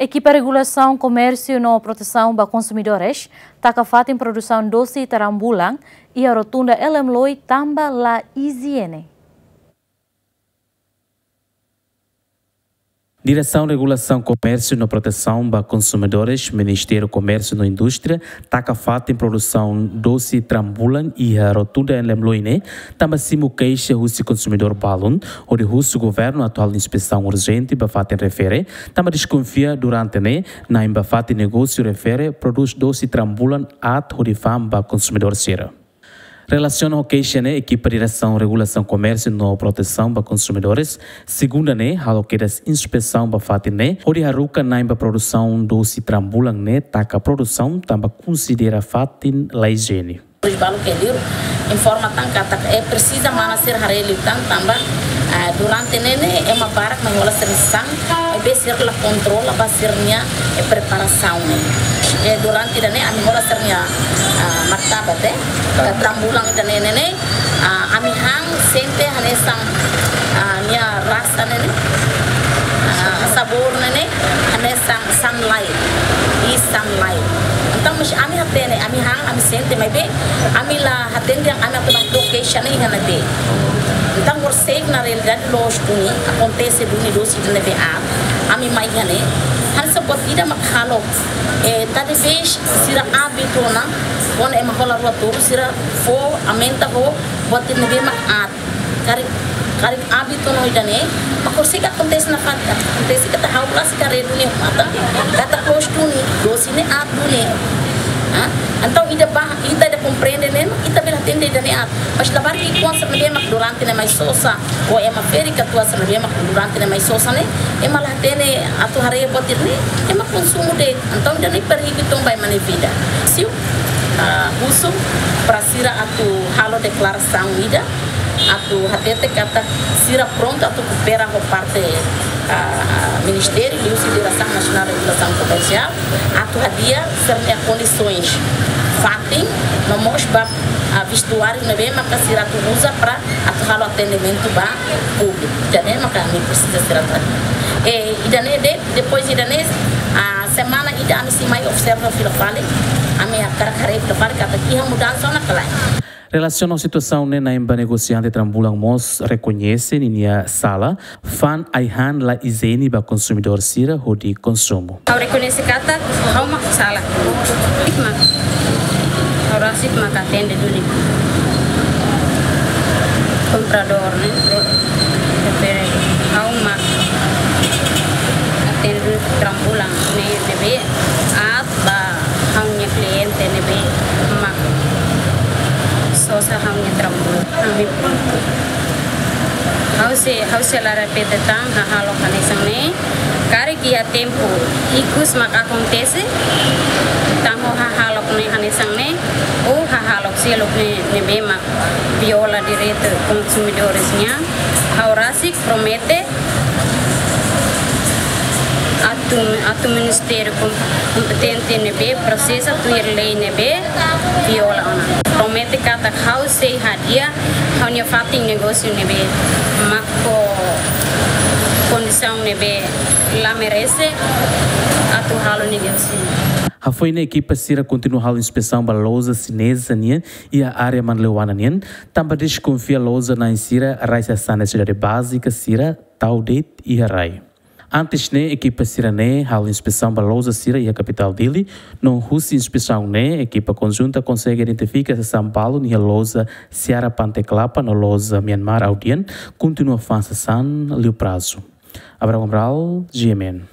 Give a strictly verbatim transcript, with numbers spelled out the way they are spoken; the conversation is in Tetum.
Ekipa Regulasaun Komérsiu no Protesaun ba Konsumidores taka fatin produsaun dose trambulan iha rotunda L M Loi tanba la ijiene. Diresaun Regulasaun Komérsiu no Protesaun ba Konsumidores, Ministériu Komérsiu no Indústria, taka fatin produsaun dose trambulan iha rotunda L M Loi ne'e, tanba simu keixa husi konsumidór balun, hodi husu governu atu halo inspesaun urjente ba fatin refere, tanba deskonfia durante ne'e, na'in ba fatin negósiu refere produz dose trambulan aat hodi fa'an ba konsumidór sira. Relasiona ho keixa ne'e, ekipa Diresaun Regulasaun Komérsiu no Protesaun ba Konsumidores, segunda ne'e, halo kedas inspesaun ba fatin ne'e, hodi haruka na'in ba produsaun dose trambulan ne'e taka produsaun tanba konsidera fatin la ijiene. Produs balu ke liur informa tan katak, eh, presiza mana sira haree liután tanba, eh, durante ne'e ne'e ema barak mai hola sira-nia sasán, maibé sira la kontrola ba sira-nia, eh, preparasaun ne'e. Eh, durante ida-ne'e ami hola sira-nia, ah, martabak, eh, trambulan ida-ne'e ne'e ne'e, ah, ami han sente hanesan, ah, nia rasa ne'e ne'e, ah, sabór ne'e ne'e hanesan sanlai, iis sanlai. Entaun, mas ami hatene, ami han, ami sente, maibé ami la hatene dehan ami atu hato'o keixa ne'e iha ne'ebé. Entaun, horiseik na realidade loos duni, akontese duni dose ida ne'ebé aat, ami mai iha ne'e. Hanesan buat ida mak halo, eh, talvés sira abitua ona, kuandu ema hola rua tolu, sira fó, aumenta ho buat ida ne'ebé mak aat. Karik, karik abitua ona ida-ne'e, mak horiseik akontese nafatin, akontese katak ha'u rasik haree duni matan, katak loos duni, dose ne'e aat duni. Ah, entaun ida ba, ita ida komprende ne'e, ita bele hatene ida-ne'e aat. Mas labarik ki'ikoan sira ne'ebé mak durante ne'e mai sosa, ou ema ferik atu sira ne'ebé mak durante ne'e mai sosa ne'e, ema la hatene atu haree buat ida-ne'e, ema konsumu de'it. Entaun ida-ne'e perigu uitoan ba ema nia vida. Siu, ah, husu para sira atu halo deklarasaun ida, atu hatete katak sira prontu atu koopera ho parte, ah, Ministériu, liuhusi Diresaun Nasionál Regulasaun Komersiál, atu hadi'a sira-nia kondisoens fatin, no mós ba, ah, vestuáriu ne'ebé maka sira atu uza para atu halo atendimentu ba públiku. Ida-ne'e maka ami presiza sira atu hadi'a. Eh, ida-ne'e de'it, depois ida-ne'e, ah, semana ida ami sei mai observa fila fali, ami hakarak haree fila fali katak iha mudansa ona ka lae. Relasiona ho situasaun ne'e, na'in ba negosiante trambulan mós rekoñese ninia sala, fa'an ai-han la ijiene ba konsumidór sira hodi konsumu. Ha'u rekoñese katak ha'u mak sala. Mak ha'u rasik mak atende duni kompradór ne'e. Tapi ha'u mak atende trambulan ne'e, ne'ebé aat ba ha'u-nia kliente ne'ebé mak sosa ha'u-nia trambulan. Ami prontu. Ha'u sei, ha'u sei la repete tan hahalok hanesan ne'e. Karik iha tempu ikus mak akontese tan ho hahalok ne'e hanesan ne'e, ou hahalok seluk ne'e, ne'ebé mak viola direitu konsumidores nian. Ha'u rasik promete atu, atu ministériu kom-, kompetente ne'ebé prosesa tuir lei ne'ebé viola ona. Promete katak ha'u sei hadi'a ha'u-nia fatin negósiu ne'ebé mak ho kondisaun ne'ebé la merese atu halo negósiu. Hafoin ne'e ekipa sira kontinua halo inspesaun ba loja xineza nian iha área Manleuana nian, tanba deskonfia loja na'in sira rai sasán nesesidade bázika sira tau de'it iha rai. Antes ne'e, ekipa sira-ne'e halo inspesaun ba loja sira iha kapitál Dili, no husi inspesaun ne'e, ekipa konjunta konsege identifika sasán balun iha loja Seara Pante Kelapa no loja Myanmar Audian, kontinua fa'an sasán liu prazu. Abraham Amaral, G M N.